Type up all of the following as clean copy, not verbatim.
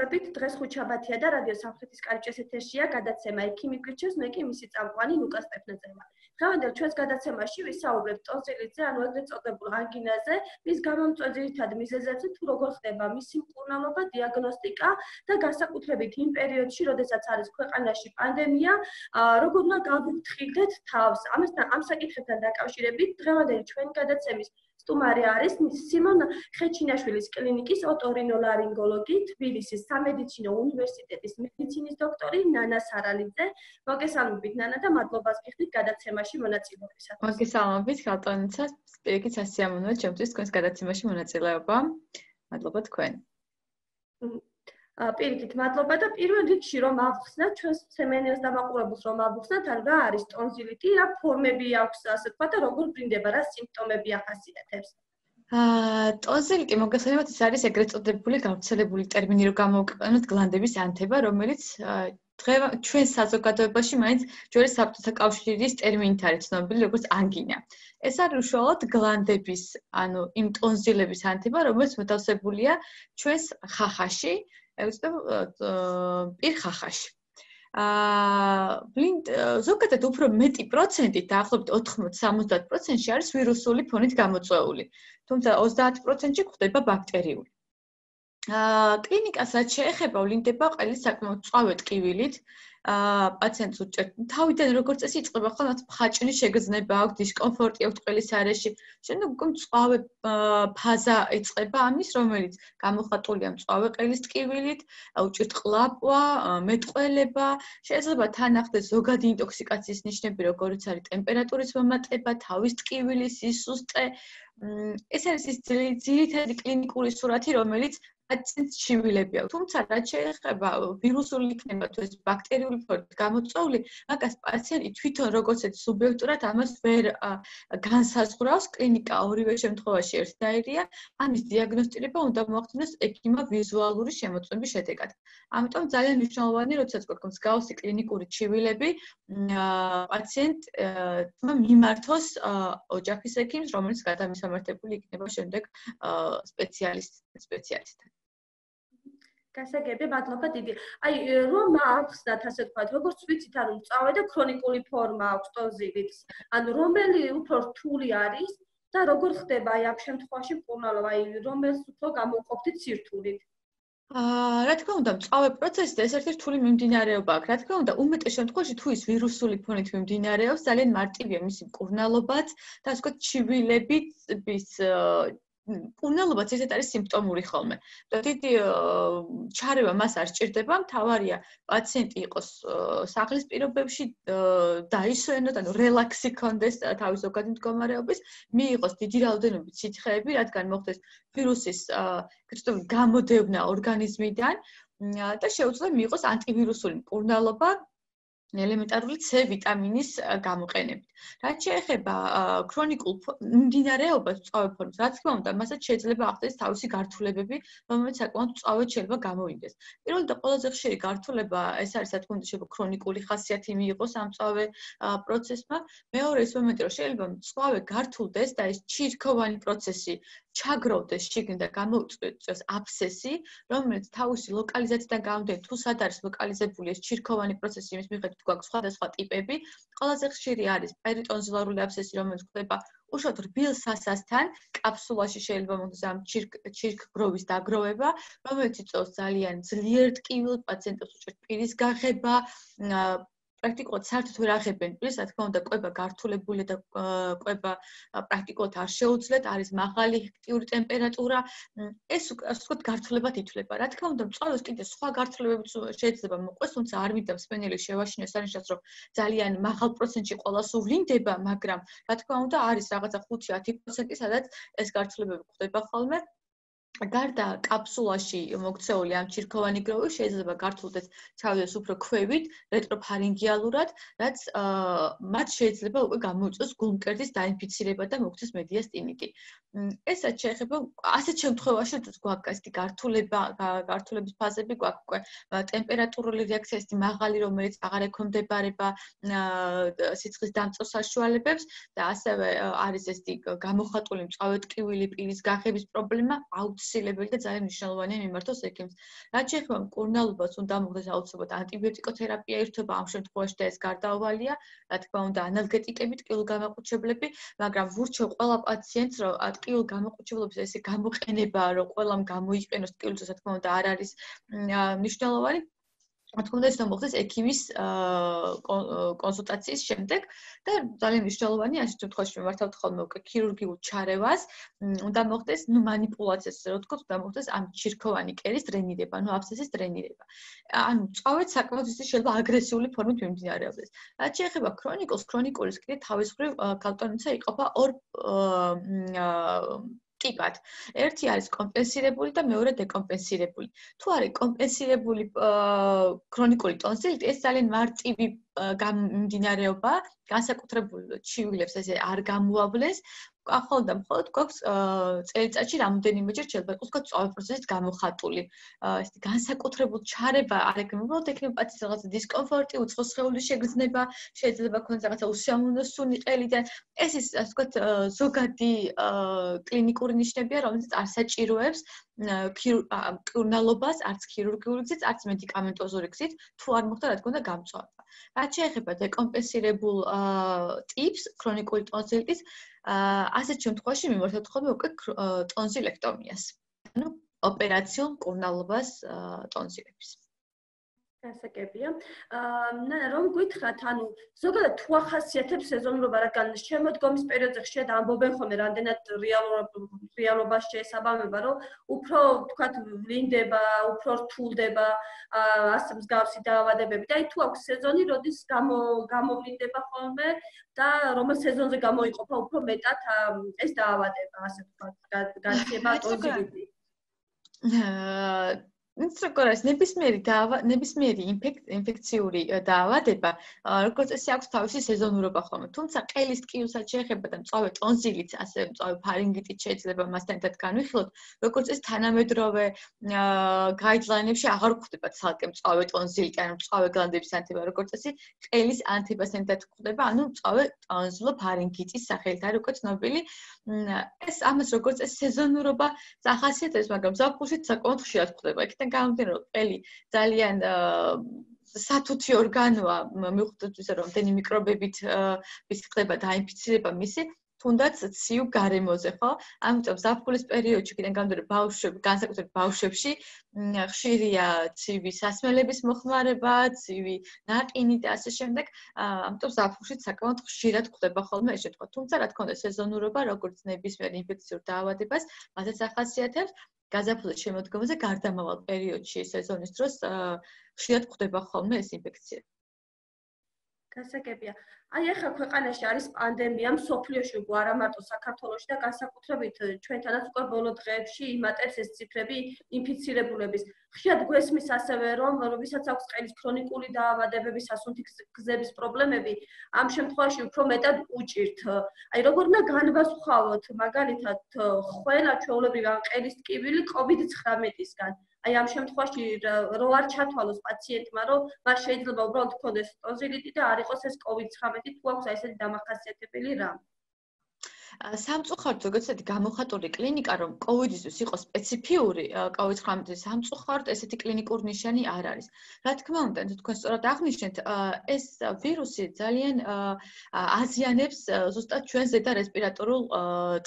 მოგესალმებით. დღეს ხუთშაბათია და რადიო სამხრეთის კარიბჭეს ეთერშია გადაცემა „ექიმი გვირჩევს, მე კი მისი წამყვანი ლუკა სტეფნაძევა“. დღევანდელ ჩვენს გადაცემაში ვისაუბრებთ ტონზილიზე, ანუ ეგრეთ წოდებულ ანგინაზე, მის გამომწვევ ძირითად მიზეზებზე, თუ როგორ ხდება მისი მკურნალობა, დიაგნოსტიკა და განსაკუთრებით იმ პერიოდში, როდესაც არის ქვეყანაში პანდემია, როგორ უნდა გავუფრთხილდეთ თავს. ამ საკითხებთან დაკავშირებით დღევანდელი ჩვენი გადაცემის სტუმარი არის სიმონ ხეჩინაშვილის კლინიკის ოტორინოლარინგოლოგი, თბილისის სამედიცინო უნივერსიტეტის მედიცინის დოქტორი ნანა სარალიძე. მოგესალმებით ნანა და მადლობას გიხდით გადაცემაში მონაწილეობისათვის. მოგესალმებით ხალხონიცა, პირიქით სასიამოვნოა ჩემთვის თქვენს გადაცემაში მონაწილეობა. მადლობა თქვენ. პირიქით მადლობა და პირველ რიგში რომ ავხსნათ ჩვენს სემენელს დამაყურებელს რომ ავხსნათ, ან რა არის ტონზილიტი, რა ფორმები აქვს, ასე ვთქვათ და როგორ ბრინდება, რა სიმპტომები ახასიათებს. ტონზილიტი მოგესალმებით, ეს არის ეგრეთ წოდებული გავრცელებული ტერმინი, რომ გამოვიყენოთ გლანდების ანთება, რომელიც ჩვენ საზოგადოებაში მაინც ჯერ საბჭოთა კავშირის ტერმინით არის ცნობილი როგორც ანგინა. ეს არის უშუალოდ გლანდების, ანუ იმ ტონზილების ანთება, რომელიც მოთავსებულია ჩვენს ხახაში, პირხახაში. ზოგადად უფრო მეტი პროცენტით, დაახლოებით 80-70%-ში არის ვირუსული ფონით გამოწვეული. თუმცა 30%-ში გვხვდება ბაქტერიული. კლინიკას რაც შეეხება, ვლინდება ყველის საკმაოდ მწვავე ტკივილით. პაციენტს უჭერთ თავიდან როგორც წესი იწყება ხოლმე მხაჭნის შეგრძნება აქვს, დისკომფორტი აქვს ყველის არეში. შემდეგ უკვე მწვავე ფაზა იწყება ამის, რომელიც გამოხატულია მწვავე ყელის ტკივილით, უჭერთ ყლაპვა, მეტყველება, შეიძლება თან ახდეთ ზოგადი ინტოქსიკაციის ნიშნები, როგორიც არის ტემპერატურის მომატება, თავის ტკივილი, სისუსტე. ეს არის ის ძირითადი კლინიკური სურათი, რომელიც პაციენტს ჩივილები აქვს. თუმცა რაც შეეხება ვირუსული იქნება თუ ეს ბაქტერიული ფორმით გამოწვეული, მაგას პაციენტი თვითონ როგორც ეს სუბიექტურად ამას ვერ განსაზღვრავს. კლინიკა ორივე შემთხვევაში ერთნაირია. ამის დიაგნოსტირება უნდა მოახდინოს ექიმმა ვიზუალური შემოწმების შედეგად. ამიტომ ძალიან მნიშვნელოვანია, როდესაც გვაქვს მსგავსი კლინიკური ჩივილები, პაციენტმა მიმართოს ოჯახის ექიმს, რომელიც გადამისამართებელი იქნება შემდეგ სპეციალისტთან. გასაგები, მადლობა დიდი. რომ ავხსნათ, ასე ვთქვათ, როგორც ვიცით, ანუ მწვავე და ქრონიკული ფორმა აქვს ტონზილიტს. ანუ რომელი უფრო რთული არის და როგორ ხდება ამ შემთხვევაში მკურნალობა, რომელს უფრო გამოვყოფდით სირთულით? რა თქმა უნდა, მწვავე პროცესზე ეს ერთ-ერთი რთული მიმდინარეობა აქვს. რა თქმა უნდა, უმეტეს შემთხვევაში თუ ის ვირუსული ფონით მიმდინარეობს, ძალიან მარტივია მისი მკურნალობაც და ასე ვთქვათ, ჩივილების მკურნალობაც ერთად არის სიმპტომური ხოლმე. დიდი ჩარევა მას არ სჭირდება, მთავარია პაციენტი იყოს სახლის პირობებში, დაისვენოთ, ანუ რელაქსი ქონდეს თავის ზოგადი მდგომარეობის, მიიღოს დიდი რაოდენობით სითხეები, რადგან მოხდეს ვირუსის გამოდევნა ორგანიზმიდან და შეუძლია მიიღოს ანტივირუსული მკურნალობა ელემენტარული C ვიტამინის გამოყენებით. რაც შეეხება ქრონიკულ მიმდინარეობას მწვავე ფორმის, რა თქმა უნდა, მასაც შეიძლება ახდენს თავისი გართულებები, რომელიც საკმაოდ მწვავედ შეიძლება გამოვიდეს. პირველი და ყველაზე ხშირი გართულება ეს არის, რა თქმა უნდა, შეიძლება ქრონიკული ხასიათი მიიღოს ამ მწვავე პროცესმა. მეორე ის მომენტი, რომ შეიძლება მწვავე გართულდეს და ეს ჩირქოვანი პროცესი ჩაგროვდეს შიგნით და გამოიწვიოს აბსესი, რომელიც თავისი ლოკალიზაციიდან გამომდინარე, თუ სად არის ლოკალიზებული ეს ჩირქოვანი პროცესი, იმის მიხედვით გვაქვს სხვადასხვა ტიპები. ყველაზე ხშირი არის პერიტონზილარული აბსესი, რომელიც ხდება უშუალოდ რბილ სასასთან, კაფსულაში შეიძლება მოხდეს ამ ჩირქგროვის დაგროვება, რომელიც იწვევს ძალიან ძლიერ ტკივილს, პაციენტებს უჭერთ პირის გაღება, პრაქტიკულად საერთოდ ვერ აღებენ პირს, რა თქმა უნდა, კვება გართულებულია და კვება პრაქტიკულად არ შეუძლიათ, არის მაღალი აქტიური ტემპერატურა, ეს ასე ვთქვათ, გართულებად ითვლება. რა თქმა უნდა, მწვავეს კიდე სხვა გართულებებიც შეიძლება მოყვეს, თუმცა არ მინდა მსმენელი შევაშინოს არნიშნავს, რომ ძალიან მაღალ პროცენტში ყველა სუვლინდება, მაგრამ რა თქმა უნდა, არის რაღაცა 5-10%, სადაც ეს გართულებები გვხვდება ხოლმე. გარდა კაფსულაში მოქცეული ამ ჩირქოვანი გროვი შეიძლება გართულდეს ჩავიდეს უფრო ქვევით, რეტროფარინგიალურად, რაც მათ შეიძლება უკვე გამოიწვიოს გულმკერდის დაინფიცირება და მოხდეს მედიასტინიტი. ესაც შეეხება ასეთ შემთხვევაში, როდესაც გვაქვს ასეთი გართულების ფაზები, გვაქვს უკვე ტემპერატურული რეაქცია ისეთი მაღალი, რომელიც აღარ ექვემდებარება სიცხის დამწვევ საშუალებებს და ასევე არის ესეთი გამოხატული მწვავე ტკივილი, პირის გაღების პრობლემა, აუცილებელი და ძალიან მნიშვნელოვანია მიმართოს ექიმს. რაც შეეხება მკურნალობას, უნდა მოხდეს აუცილებლად ანტიბიოტიკოთერაპია ერთობა ამ შემთხვევაში და ეს გარდაუვალია, რა თქმა უნდა, ანალგეტიკები, ტკივილგამაყუჩებლები, მაგრამ ვურჩევ ყველა პაციენტს, რომ ტკივილგამაყუჩებლობის ესე გამოყენება, რომ ყველამ გამოიყენოს ტკივილს, რა თქმა უნდა, არ არის მნიშვნელოვანი. რა თქმა უნდა, ეს უნდა მოხდეს ექიმის კონსულტაციის შემდეგ და ძალიან მნიშვნელოვანია ამ შემთხვევაში მიმართავთ ხოლმე უკვე ქირურგიულ ჩარევას, უნდა მოხდეს, манипуляციას, რო ვთქვათ, უნდა მოხდეს ამ ჩირქოვანი კერის დრენირება, აბსცესის დრენირება. ანუ წავედ საკმაოდ შეიძლება აგრესიული ფორმით მიმდინარეობდეს. რაც შეეხება ქრონიკულს, ქრონიკულის კიდე თავის მხრივ გალტონიცა იყოფა ორ ტიპად. ერთი არის კომპენსირებული და მეორე დეკომპენსირებული. თუ არის კომპენსირებული ქრონიკული ტონსილიტი, ეს ძალიან მარტივი მიმდინარეობა, განსაკუთრებულ ჩივილებს ესე არ გამოავლენს. ახლა და მხოლოდ გვაქვს წელიწადში რამოდენიმეჯერ შეიძლება იყოს წავე პროცესით გამოხატული. ესეთი განსაკუთრებულ ჩარევა არ ექნება, უბრალოდ ექნება პაციენტს რაღაცა დისკომფორტი, უცხო სხეულის შეგრძნება, შეიძლება ქონდეს რაღაცა უსიამოვნო სუნი ყელიდან. ეს ის ასე ვთქვათ ზოგადი კლინიკური ნიშნებია, რომელიც არ საჭიროებს მკურნალობას, არც ქირურგიული გზით, არც მედიკამენტოზური გზით, თუ არ მოხდა რა თქმა უნდა გამწვავება. რაც შეეხება დეკომპენსირებულ ტიპს ქრონიკული ტონსილიტის ასეთ შემთხვევაში მიმართავთ ხოლმე უკვე ტონსილექტომიას. ანუ ოპერაციულ მკურნალობას ტონსილების. გასაგებია. რომ გითხრათ, ანუ ზოგადად თუ ახასიათებს სეზონურობა, რადგან შემოდგომის პერიოდზე ხშირად ამბობენ ხოლმე, რამდენად რეალობას შეესაბამება, რომ უფრო თქვათ ვლინდება, უფრო რთულდება ასე მსგავსი დაავადებები. და თუ აქვს სეზონი, როდის გამოვლინდება ხოლმე და რომელ სეზონზე გამოიყოფა უფრო მეტად ეს დაავადება, ასე ვთქვათ, გაცემა ტონსილიტი. ნაცროკორას ნებისმიერი ინფექციური დაავადება, როგორც წესი აქვს თავისი სეზონურობა ხოლმე. თუმცა ყელის ტკივილსაც შეეხება და მწვავე ტონსილიც, ასე მწვავე ფარინგიტიც შეიძლება მასთან ერთად განვიხილოთ, როგორც წესი თანამედროვე გაიდლაინებში აღარ გვხვდება ცალკე მწვავე ტონსილიტი, ანუ მწვავე გლანდების ანთება, როგორც წესი ყელის ანთებასთან ერთად გვხვდება, ანუ მწვავე ტონსილოფარინგიტის სახელით არის უკვე ცნობილი. ეს ამას როგორც წესი სეზონურობა ახასიათებს, მაგრამ ზაფხულშიც საკმაოდ ხშირად გვხვდება. გამომდინარე, რომ ყელი ძალიან სათუთი ორგანოა, მიუხედავად იმისა, რომ მთელი მიკრობებით ხდება დაინფიცირება მისი, თუნდაც ცივ გარემოზე, ხო? ამიტომ ზაფხულის პერიოდში კიდე გამომდინარე ბავშვები, განსაკუთრებით ბავშვებში ხშირია ცივი სასმელების მოხმარება, ცივი ნაყინი და ასე შემდეგ. ამიტომ ზაფხულში საკმაოდ ხშირად გვხვდება ხოლმე ეს შემთხვევა. თუმცა რა თქმა უნდა, სეზონურობა, როგორც ნებისმიერ ინფექციურ დაავადებას, მასაც ახასიათებს. გაზაფხულის შემოდგომაზე გარდამავალ პერიოდში სეზონის დროს ხშირად გვხვდება ხოლმე ეს ინფექცია. გასაგებია. აი ახლა ქვეყანაში არის პანდემია, მსოფლიოში უკვე არა მარტო საქართველოში და განსაკუთრებით ჩვენთანაც უკვე ბოლო დღეებში იმატებს ეს ციფრები ინფიცირებულების. ხშირად გვესმის ასევე, რომ ვისაც აქვს ყელის ქრონიკული დაავადებები, სასუნთქი გზების პრობლემები, ამ შემთხვევაში უფრო მეტად უჭირთ. აი როგორ უნდა განვასხვაოთ მაგალითად ყველა ჩვეულებრივი ყელის ტკივილი COVID-19-ისგან. აი ამ შემთხვევაში რო არ ჩათვალოს პაციენტმა, რომ მას შეიძლება უბრალოდ ჰქონდეს ტონსილიტი და არ იყოს ეს COVID-19, თუ აქვს აი ესეთი დამახასიათებელი რამ. სამწუხაროდ ზოგადად გამოხატული კლინიკა, რომ COVID-ისთვის იყოს სპეციფიური COVID-19-ის სამწუხაროდ ესეთი კლინიკური ნიშანი არ არის. რა თქმა უნდა, თქვენ სწორად აღნიშნეთ, ეს ვირუსი ძალიან აზიანებს ზუსტად ჩვენს ზედა რესპირატორულ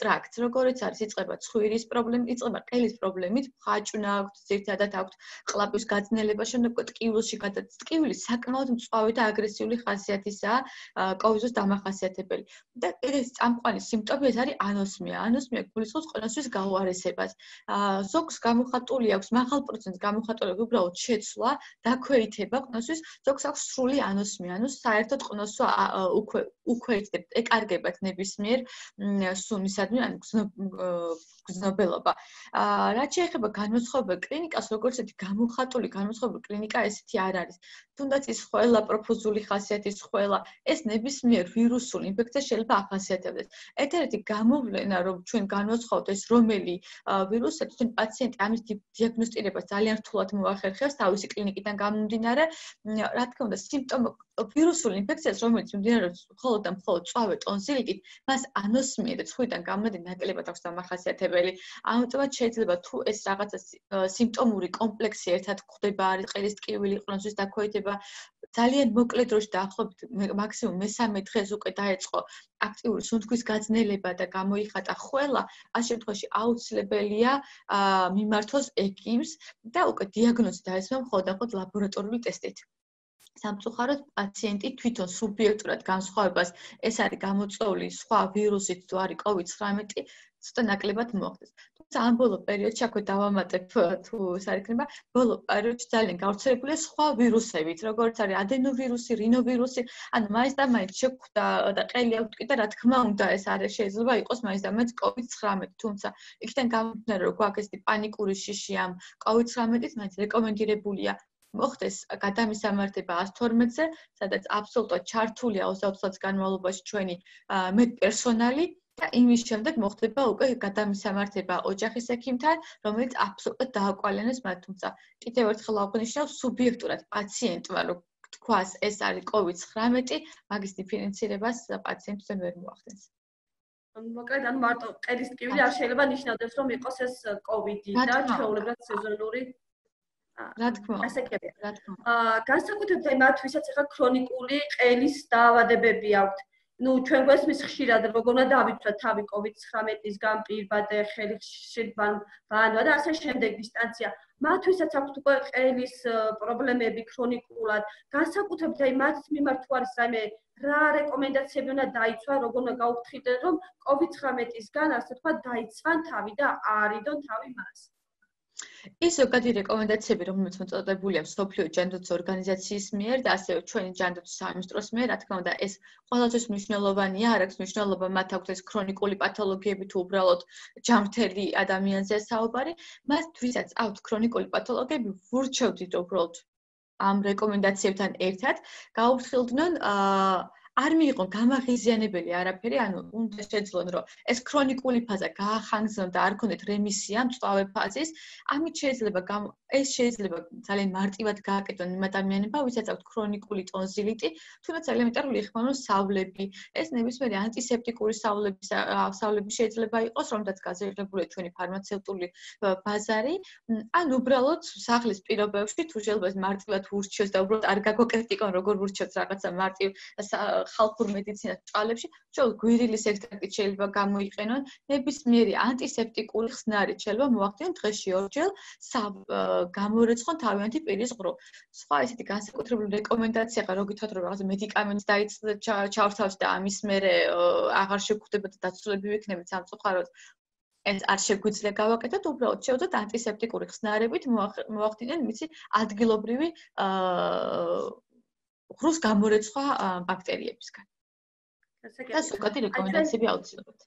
ტრაქტს, როგორც არის იწყება ცხვირის პრობლემით, იწყება ყელის პრობლემით, ხაჭვნა აქვს, ძირითადად აქვს ყლაპის გაძნელება, შემდეგ ტკივილში გადადის. ტკივილი საკმაოდ მწვავე და აგრესიული ხასიათისაა COVID-ის დამახასიათებელი. და ეს წამყვანი სიმპტომი ეს არის ანოსმია. ანოსმია გულისხმობს ყნოსვის გაუარესებას. ზოგს გამოხატული აქვს მაღალ პროცენტს გამოხატული უბრალოდ შეცვლა, დაქვეითება ყნოსვის, ზოგს აქვს სრული ანოსმია. ანუ საერთოდ ყნოსვა უქვეითდებთ, ეკარგებათ ნებისმიერ სუნისადმი, ანუ გზნობელობა. რაც შეეხება განმსხვავებელ კლინიკას, როგორც ერთი გამოხატული განმსხვავებელი კლინიკა ესეთი არ არის. თუნდაც ის ყველა პროფუზული ხასიათის ყველა ეს ნებისმიერ ვირუსულ ინფექციას შეიძლება ახასიათებდეს. ერთ ერთადერთი გამოვლენა რომ ჩვენ განვაცხადოთ ეს რომელი ვირუსია თვითონ პაციენტი ამის დიაგნოსტირებას ძალიან რთულად მოახერხებს თავისი კლინიკიდან გამომდინარე რა თქმა უნდა სიმპტომი ვირუსული ინფექციას რომელიც მიმდინარეობს მხოლოდ და მხოლოდ წვავე ტონზილიტით მას ანოსმია და ცხვირიდან გამომდინარე ნაკლებად აქვს დამახასიათებელი ამიტომ შეიძლება თუ ეს რაღაცა სიმპტომური კომპლექსი ერთად გვხვდება არის ყელის ტკივილი ყნოსვის დაქვეითება ძალიან მოკლე დროში დაახლოებით მაქსიმუმ მესამე დღეს უკვე დაეწყო აქტიური სუნთქვის გაძნელება და გამოიხატა ხველა, ამ შემთხვევაში აუცილებელია მიმართოს ექიმს და უკვე დიაგნოზი დაესვა მხოლოდ ლაბორატორიული ტესტით. სამწუხაროდ პაციენტი თვითონ სუბიექტურად განსხვავებას ეს არის გამოწვეული სხვა ვირუსით თუ არის COVID-19 ცოტა ნაკლებად მოხდეს. თუმცა ამ ბოლო პერიოდში აქვე დავამატებ თუ ეს არ იქნება, ბოლო პერიოდში ძალიან გავრცელებულია სხვა ვირუსებით, როგორც არის ადენოვირუსი, რინოვირუსი, ანუ მაინც და მაინც შეგვხვდა და ყელი აქვთ კი და რა თქმა უნდა ეს არის შეიძლება იყოს მაინც და მაინც COVID-19, თუმცა იქიდან გამომდინარე რომ გვაქვს ესეთი პანიკური შიში ამ COVID-19-ით, მაინც რეკომენდირებულია მოხდეს გადამისამართება 112-ზე, სადაც აბსოლუტურად ჩართულია 24 საათის განმავლობაში ჩვენი მედპერსონალი და იმის შემდეგ მოხდება უკვე გადამისამართება ოჯახის ექიმთან, რომელიც აბსოლუტურად დააკვალიანებს მათ, თუმცა კიდევ ერთხელ აღვნიშნავ სუბიექტურად პაციენტმა რომ თქვას ეს არის COVID-19, მაგის დიფერენცირებას პაციენტთან ვერ მოახდენს. მოკლედ ანუ მარტო ყელის ტკივილი არ შეიძლება ნიშნავდეს რომ იყოს ეს COVID-ი და ჩვეულებრივად სეზონური რა თქმა უნდა. ასე კი განსაკუთრებით მათ ვისაც ახლა ქრონიკული ყელის დაავადებები აქვთ. ნუ ჩვენ გვესმის ხშირად როგორ უნდა დავიცვათ თავი COVID-19-ისგან პირბადე, ხელი ხშირად ბანვა და ასე შემდეგ დისტანცია. მათ ვისაც აქვთ უკვე ყელის პრობლემები ქრონიკულად, განსაკუთრებით აი მათ მიმართ თუ არის რაიმე რა რეკომენდაციები უნდა დაიცვა, როგორ უნდა გაუფრთხილდნენ რომ COVID-19-ისგან ასე თქვა დაიცვან თავი და არიდონ თავი მას. ის ზოგადი რეკომენდაციები, რომელიც მოწოდებულია მსოფლიო ჯანდაცვის ორგანიზაციის მიერ და ასევე ჩვენი ჯანდაცვის სამინისტროს მიერ, რა თქმა უნდა, ეს ყველასთვის მნიშვნელოვანია, არ აქვს მნიშვნელობა მათ აქვთ ეს ქრონიკული პათოლოგიები თუ უბრალოდ ჯანმრთელი ადამიანზეა საუბარი, მას ვისაც აქვთ ქრონიკული პათოლოგიები, ვურჩევდით უბრალოდ ამ რეკომენდაციებთან ერთად გაუფრთხილდნენ არ მიიღონ გამაღიზიანებელი არაფერი, ანუ უნდა შეძლონ, რომ ეს ქრონიკული ფაზა გაახანგრძნონ და არ ქონდეთ რემისია მწვავე ფაზის, ამით შეიძლება ძალიან მარტივად გააკეთონ იმ ადამიანებმა, ვისაც აქვთ ქრონიკული ტონზილიტი, თუნდაც ელემენტარული იხმარონ სავლები, ეს ნებისმიერი ანტისეპტიკური სავლები შეიძლება იყოს, რომლითაც გაზრდილია ჩვენი ფარმაცევტული ბაზარი, ან უბრალოდ სახლის პირობებში თუ შეიძლება მარტივად ურჩიოს და უბრალოდ არ გაგვაკეთიკონ როგორ ურჩიოს რაღაცა მარტივ ხალხურ მედიცინას ჭალებში, ჩვენ გვირილის ექსტრაქტით შეიძლება გამოიყენონ, ნებისმიერი ანტისეპტიკური ხსნარით შეიძლება მოახდინონ დღეში ორჯერ გამორეცხონ თავიანთი პირის ღრუ. სხვა ესეთი განსაკუთრებული რეკომენდაცია რა გითხრათ რომ რაღაცა მედიკამენტს ჩავრთავთ და ამის მერე აღარ შეგხვდება და დაცულები ვიქნებით სამწუხაროდ ეს არ შეგვიძლია გავაკეთოთ, უბრალოდ შევძოთ ანტისეპტიკური ხსნარებით მოახდინონ მისი ადგილობრივი ღრუს გამორეცხვა ბაქტერიებისგან. და ზოგადი რეკომენდაციები აუცილებლად.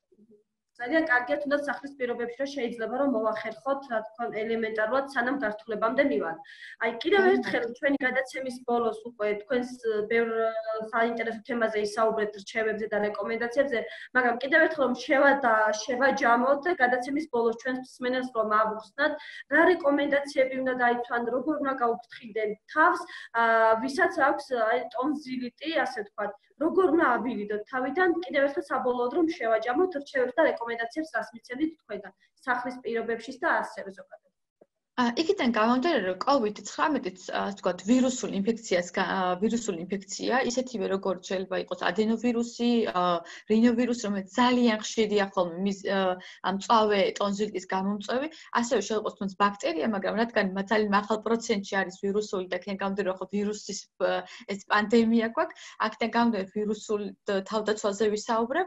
ძალიან კარგია თუნდაც სახლის პირობებში რომ შეიძლება რომ მოახერხოთ, რა თქმა უნდა, ელემენტარულად სანამ გართულებამდე მივალ. აი კიდევ ერთხელ ჩვენი გადაცემის ბოლოს უკვე თქვენს ბევრ საინტერესო თემაზე ისაუბრეთ რჩევებზე და რეკომენდაციებზე, მაგრამ კიდევ ერთხელ რომ შევაჯამოთ და გადაცემის ბოლოს ჩვენს მსმენელს რომ ავუხსნათ, რა რეკომენდაციები უნდა დაიცვან, როგორ უნდა გაუფრთხილდნენ თავს, ვისაც აქვს აი ტონზილიტი, ასე ვთქვათ, როგორ უნდა ავირიდოთ თავიდან, კიდევ ერთხელ საბოლოოდ რომ შევაჯამოთ რჩევებს და რეკომენდაციებს რას მიცემთ თქვენგან სახლის პირობებში და ასევე ზოგადად. იქიდან გამომდინარე რომ COVID-19-იც ასე ვთქვათ ვირუსული ინფექცია, ისეთივე როგორც შეიძლება იყოს ადენოვირუსი, რინოვირუსი, რომელიც ძალიან ხშირია ხოლმე ამ მწვავე ტონზილიტის გამომწვევი, ასევე შეიძლება იყოს თუნდაც ბაქტერია, მაგრამ რადგან ძალიან მაღალ პროცენტში არის ვირუსული და იქიდან გამომდინარე რომ ვირუსის ეს პანდემია გვაქვს, აქედან გამომდინარე ვირუსულ თავდაცვაზე ვისაუბრებ,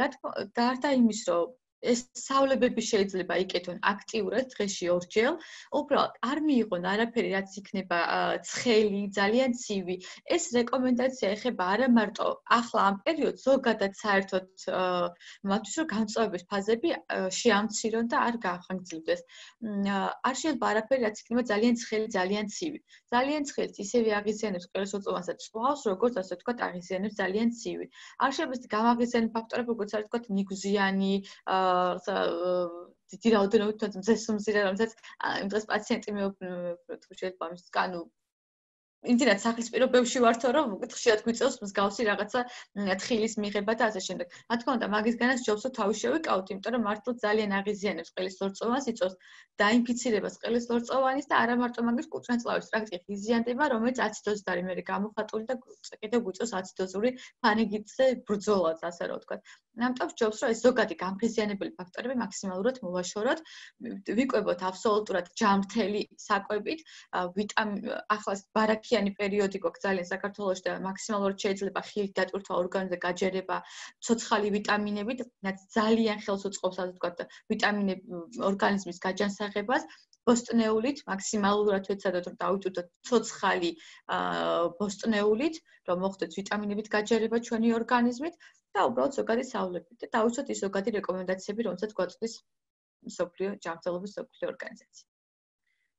რა თქმა უნდა, გარდა იმის რომ ეს სწავლებები შეიძლება იკეთონ აქტიურად დღეში ორჯერ, უბრალოდ არ მიიღონ არაფერი, რაც იქნება ცხელი, ძალიან ცივი. ეს რეკომენდაცია ეხება არა მარტო ახლა ამ პერიოდს, ზოგადად საერთოდ მათთვის რომ გამწვავების ფაზები შეამცირონ და არ გაახანგრძლივდეს. არ შეიძლება არაფერი, რაც იქნება ძალიან ცხელი, ძალიან ცივი. ძალიან ცხელს ისევე აღიზიანებს ყელსოწოვანს და წვავს, როგორც ასე ვთქვათ, აღიზიანებს ძალიან ცივი. არ შეიძლება გამაღიზიანებულ ფაქტორები, როგორც არის ვთქვათ, ნიგზიანი, დიდი რაოდენობით თუნდაც მზესუმზირე, რომელსაც იმ დღეს პაციენტი თუ შეიძლება ამის ანუ იმდენად სახლის პირობებში ვართო, რომ ხშირად გვიწევს მსგავსი რაღაცა თხილის მიღება და ასე შემდეგ. რა თქმა უნდა, მაგისგანაც ჯობს რომ თავი შევიკავოთ, იმიტომ რომ მართლა ძალიან აღიზიანებს ყელის ლორწოვანს, იწვევს დაინფიცირებას ყელის ლორწოვანის და არა მარტო მაგის კუჭნაწლავის ტრაქტი ღიზიანდება, რომელიც აციდოზით არის მერე გამოხატული და კიდევ გვიწევს აციდოზური ფანიგიტზე ბრძოლას, ასე რომ ვთქვათ. ამიტომ ჯობს რომ ეს ზოგადი გამღიზიანებელი ფაქტორები მაქსიმალურად მოვაშოროთ, ვიკვებოთ აბსოლუტურად ჯამრთელი საკვებით, ახლა ბარაქიანი პერიოდი გვაქვს ძალიან საქართველოში და მაქსიმალურად შეიძლება ხილით დატვირთვა ორგანიზმზე გაჯერება ცოცხალი ვიტამინებით, რაც ძალიან ხელს უწყობს, ასე ვთქვათ, ვიტამინები ორგანიზმის გაჯანსაღებას. ბოსტნეულით მაქსიმალურად ვეცადოთ რომ დავიტვირთოთ ცოცხალი ბოსტნეულით, რომ მოხდეს ვიტამინებით გაჯერება ჩვენი ორგანიზმით და უბრალოდ ზოგადი სწავლებით და დავიცოთ ის ზოგადი რეკომენდაციები, რომელსაც გვაწვდის მსოფლიო ჯანმრთელობის მსოფლიო ორგანიზაცია.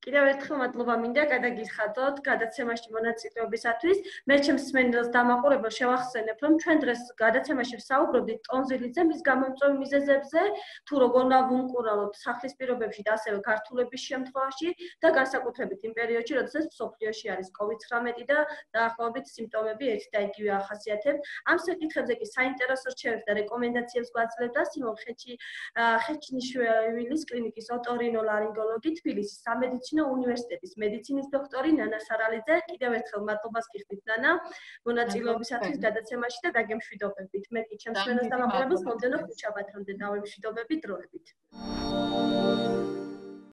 კიდევ ერთხელ მადლობა მინდა გადაგიხადოთ გადაცემაში მონაწილეობისათვის. მე ჩემს მსმენელს დამაყურებელ შევახსენებ, რომ ჩვენ დღეს გადაცემაში ვსაუბრობდით ტონზილიტზე, მის გამომწვევ მიზეზებზე, თუ როგორ უნდა ვუმკურავოთ სახლის პირობებში და ასევე გართულების შემთხვევაში და განსაკუთრებით იმ პერიოდში, როდესაც მსოფლიოში არის COVID-19 და დაახლოებით სიმპტომები ერთი და იგივე ახასიათებს. ამ საკითხებზე კი საინტერესო რჩევებს და რეკომენდაციებს გვაძლევდა სიმონ ხეჩინიშვილის კლინიკის ოტორინოლარინგოლოგი თბილისის სამედიცინო უნივერსიტეტის მედიცინის დოქტორი ნანა სარალიძე. კიდევ ერთხელ მადლობას გიხდით ნანა მონაწილეობისათვის გადაცემაში და დაგემშვიდობებით. მე კი ჩემს მენელს დამაყურებელს მომდევნო ხუთშაბათამდე დავემშვიდობები დროებით.